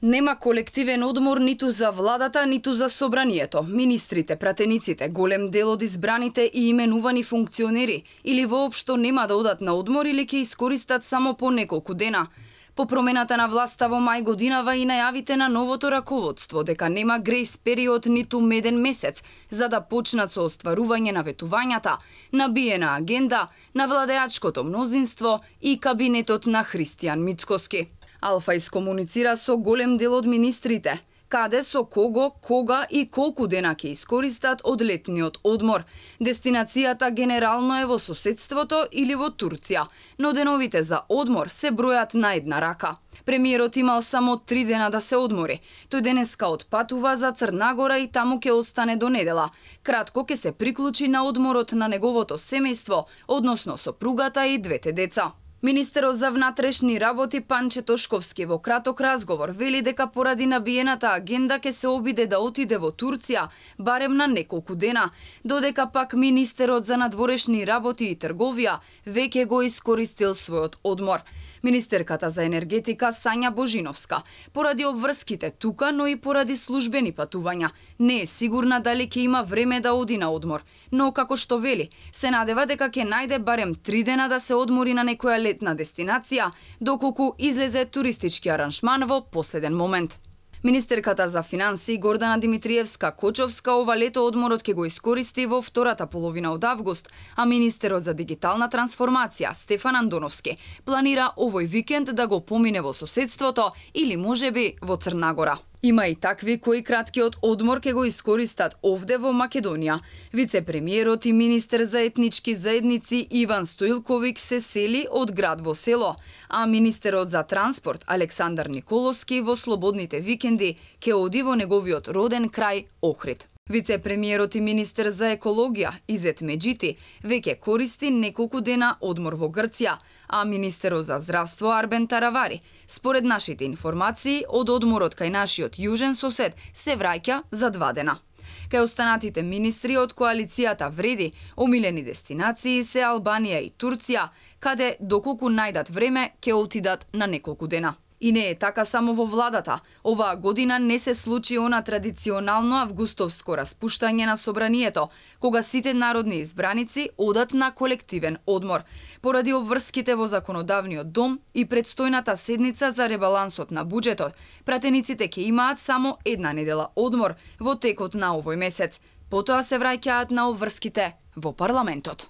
Нема колективен одмор ниту за владата, ниту за собранието. Министрите, пратениците, голем дел од избраните и именувани функционери или воопшто нема да одат на одмор или ќе искористат само по неколку дена. По промената на власта во мај годинава и најавите на новото раководство дека нема грейс период ниту меден месец за да почнат со остварување на ветувањата, набиена агенда на владеачкото мнозинство и кабинетот на Христијан Мицкоски. Алфа искомуницира со голем дел од министрите, каде, со кого, кога и колку дена ќе искористат од летниот одмор. Дестинацијата генерално е во соседството или во Турција, но деновите за одмор се бројат на една рака. Премиерот имал само 3 дена да се одмори. Тој денеска отпатува за Црна Гора и таму ќе остане до недела. Кратко ќе се приклучи на одморот на неговото семејство, односно сопругата и двете деца. Министерот за внатрешни работи Панче Тошковски во краток разговор вели дека поради набиената агенда ќе се обиде да отиде во Турција барем на неколку дена, додека пак министерот за надворешни работи и трговија веќе го искористил својот одмор. Министерката за енергетика Сања Божиновска, поради обврските тука, но и поради службени патувања, не е сигурна дали ќе има време да оди на одмор, но како што вели, се надева дека ќе најде барем 3 дена да се одмори на некоја летна дестинација, доколку излезе туристички аранжман во последен момент. Министерката за финансии Гордана Димитриевска-Кочовска ова лето одморот ќе го искористи во втората половина од август, а министерот за дигитална трансформација Стефан Андоновски планира овој викенд да го помине во соседството или можеби во Црна Гора. Има и такви кои краткиот одмор ќе го искористат овде во Македонија. Вице-премиерот и министер за етнички заедници Иван Стоилковик се сели од град во село, а министерот за транспорт Александар Николовски во слободните викенди ќе оди во неговиот роден крај Охрид. Вице-премиерот и министер за екологија Изет Меджити веќе користи неколку дена одмор во Грција, а министерот за здравство Арбен Таравари, според нашите информации, од одморот кај нашиот јужен сосед се враќа за 2 дена. Кај останатите министри од коалицијата Вреди, омилени дестинации се Албанија и Турција, каде доколку најдат време ќе отидат на неколку дена. И не е така само во владата. Оваа година не се случи она традиционално августовско распуштање на собранието, кога сите народни избраници одат на колективен одмор. Поради обврските во законодавниот дом и предстојната седница за ребалансот на буџетот, пратениците ќе имаат само 1 недела одмор во текот на овој месец. Потоа се враќаат на обврските во парламентот.